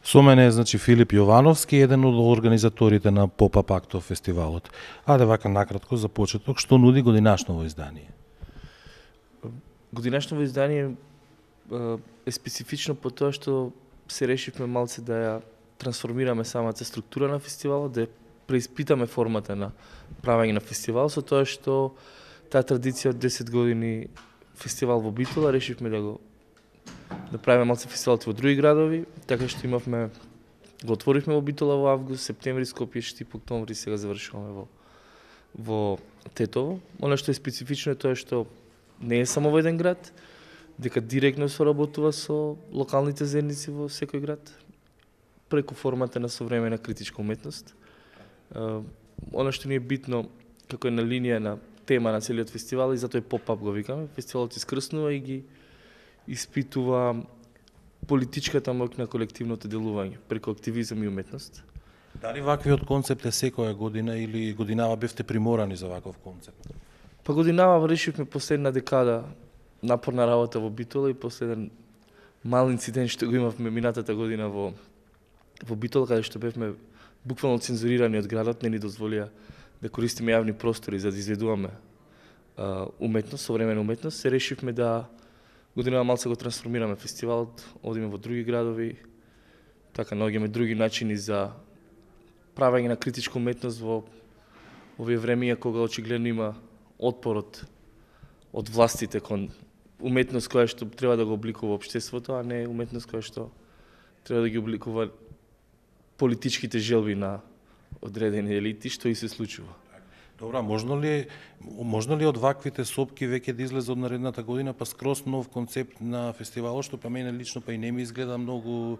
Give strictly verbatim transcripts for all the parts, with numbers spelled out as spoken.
Со мене е значи Филип Јовановски, еден од организаторите на Поп-ап Актов фестивалот. Аде вака накратко за почеток, што нуди годинашново издание? Годинашново издание е специфично по тоа што се решивме малце да ја трансформираме самата структура на фестивалот, да ја преиспитаме формата на правење на фестивал, со тоа што таа традиција од десет години фестивал во Битола решивме да го да правиме малце фестивалот во други градови, така што имавме го отворивме во Битола во август, септември Скопје, Штип, октомври, сега завршуваме во во Тетово. Она што е специфично е тоа што не е само во еден град, дека директно соработува со локалните заедници во секој град преку формата на современа критичка уметност. Она што ни е битно како е на линија на тема на целиот фестивал и затоа е поп-ап го викаме. Фестивалот искрснува и ги испитува политичката моќ на колективното делување преку активизам и уметност. Дали ваквиот концепт е секоја година или годинава бевте приморани за ваков концепт? Па годинава решивме последна декада напорна работа во Битола и последен мал инцидент што го имавме минатата година во во Битола, каде што бевме буквално цензурирани од градот, не ни дозволија да користиме јавни простори за да изведуваме а, уметност, современа уметност, се решивме да годинава малце го трансформираме фестивалот, одиме во други градови, така наоѓаме други начини за правење на критичка уметност во овие времења кога очигледно има отпор од од властите кон уметност која што треба да го обликува општеството, а не уметност која што треба да ги обликува политичките желби на одредени елити, што и се случува. Добра, можно ли можно ли од ваквите сопки веќе да излезе од наредната година па скроз нов концепт на фестивалот, што па мене лично па и не ми изгледа многу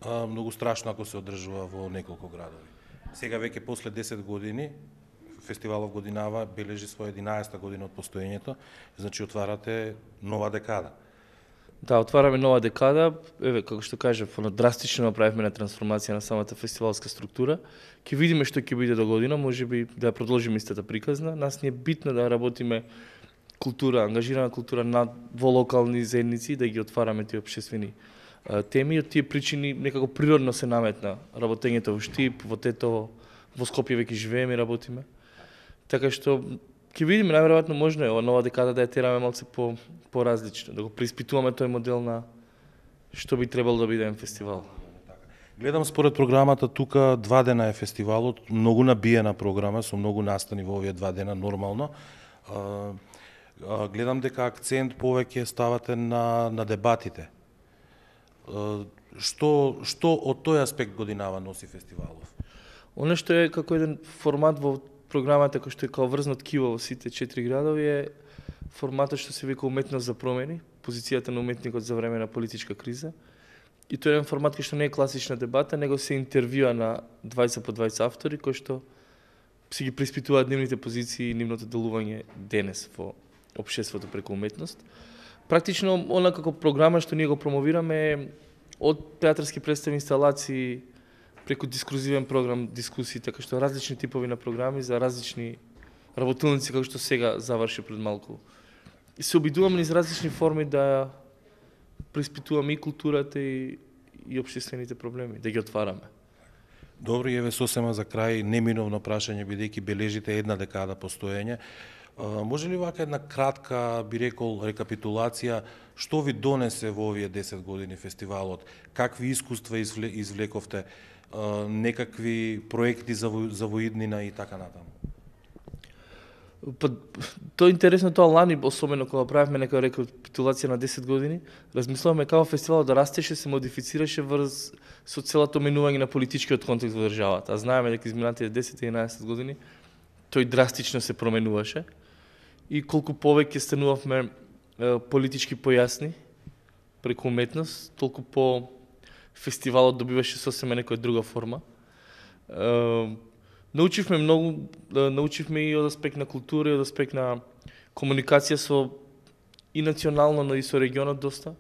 а, многу страшно ако се одржува во неколку градови. Сега веќе после десет години фестивалов годинава бележи своја единаесета година од постоењето, значи отварате нова декада. Да, отвараме нова декада, еве како што кажав, оно драстично направивме на трансформација на самата фестивалска структура. Ќе видиме што ќе биде до година, можеби да ја продолжиме истата приказна. Нас ни е битно да работиме култура, ангажирана култура на во локални заедници, да ги отвараме тие општествени теми. Од тие причини некако природно се наметна работењето во Штип, во Тетово, во Скопје веќе живееме и работиме. Така што ќе видиме, најверојатно можно е ова нова декада да ја тераме малце по поразлично, да го преиспитуваме тој модел на што би требало да биде фестивал. Гледам според програмата тука два дена е фестивалот, многу набиена програма со многу настани во овие два дена нормално. А, а, гледам дека акцент повеќе ставате на на дебатите. А, што што од тој аспект годинава носи фестивалов? Оно што е како еден формат во програмата кој што е као врзнат кива во сите четири градови е форматот што се вика уметност за промени, позицијата на уметникот за време на политичка криза. И тоа е еден формат кој што не е класична дебата, него се интервјуа на двајцет по двајцет автори кои што се ги преиспитуваат нивните позиции и нивното делување денес во општеството преку уметност. Практично она како програма што ние го промовираме е од театарски представи, инсталации, преку дискурзивен програм, дискусии, така што различни типови на програми за различни работилници, како што сега заврши пред малку. И се обидуваме низ различни форми да преиспитуваме и културата и, и општествените проблеми, да ги отвараме. Добро, еве сосема за крај неминовно прашање, бидејќи бележите една декада постоење. Може ли вака една кратка, би рекол, рекапитулација, што ви донесе во овие десет години фестивалот? Какви искуства извлековте? Некакви проекти за, во, за воиднина и така натаму? Па, тоа е интересно, тоа лани, особено кога правевме нека рекапитулација на десет години, размислуваме како фестивалот да растеше, се модифицираше врз со целото менување на политичкиот контекст во државата. А знаеме дека изминатите десет-единаесет години тој драстично се променуваше и колку повеќе станувавме е, политички појасни преку уметност, толку по фестивалот добиваше сосема некоја друга форма. Е, научивме многу, научивме и од аспект на култура, и од аспект на комуникација со и национално, но и со регионот доста.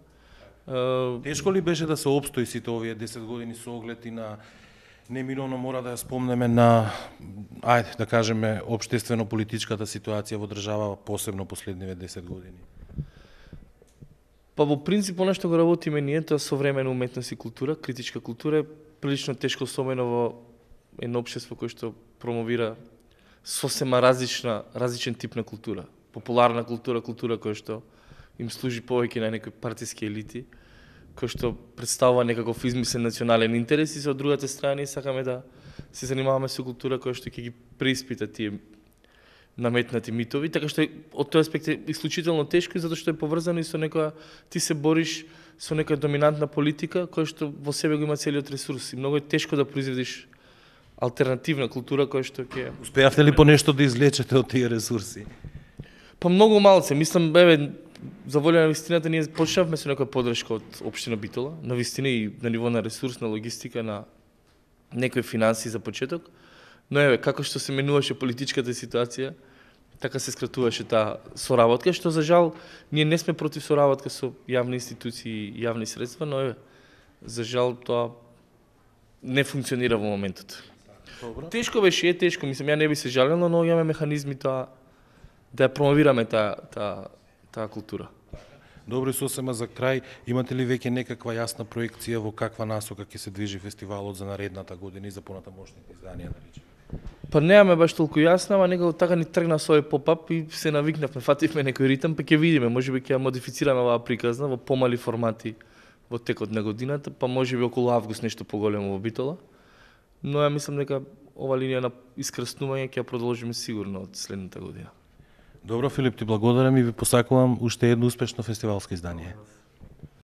Е, Тешко ли беше да се опстои сите овие десет години со оглед и на неминовно мора да ја спомнеме на, ајде да кажеме, општествено-политичката ситуација во држава, посебно последниве десет години? Па во принцип, оно што го работиме ние, тоа современа уметност и култура, критичка култура, прилично тешко, особено во едно општество кој што промовира сосема различна, различен тип на култура. Популарна култура, култура која што им служи повеќе на некои партиски елити, кој што представува некаков измислен национален интерес, и со другата страна сакаме да се занимаваме со култура која што ќе ги преиспита тие наметнати митови, така што од тој аспект е исклучително тешко, затоа што е поврзано и со некоја, ти се бориш со некоја доминантна политика која што во себе го има целиот ресурс, и многу е тешко да произведиш алтернативна култура која што ќе... Успеавте ли по нешто да излечете од тие ресурси? Па многу малце, мислам, еве, за волја на вистината, ние почнавме со некоја подршка од општина Битола, на вистина и на ниво на ресурс, на логистика, на некои финанси за почеток, но еве, како што се менуваше политичката ситуација, така се скратуваше таа соработка, што за жал ние не сме против соработка со јавни институции и јавни средства, но еве, за жал тоа не функционира во моментот. Добро. Тешко беше, е тешко, мислам, ја не би се жалел, но имаме механизми тоа да ја промовираме таа таа таа култура. Добро, и сосема за крај, имате ли веќе некаква јасна проекција во каква насока ќе се движи фестивалот за наредната година и за понатамошните изданија, да речеме? Па немаме баш толку јасна, ама некако така ни тргна со овој поп-ап и се навикнавме, фативме некој ритм, па ќе видиме, можеби ќе ја модифицираме оваа приказна во помали формати во текот на годината, па можеби околу август нешто поголемо во Битола. Но ја мислам дека ова линија на искрснување ќе ја продолжиме сигурно од следната година. Добро, Филип, ти благодарам и ви посакувам уште едно успешно фестивалско издание.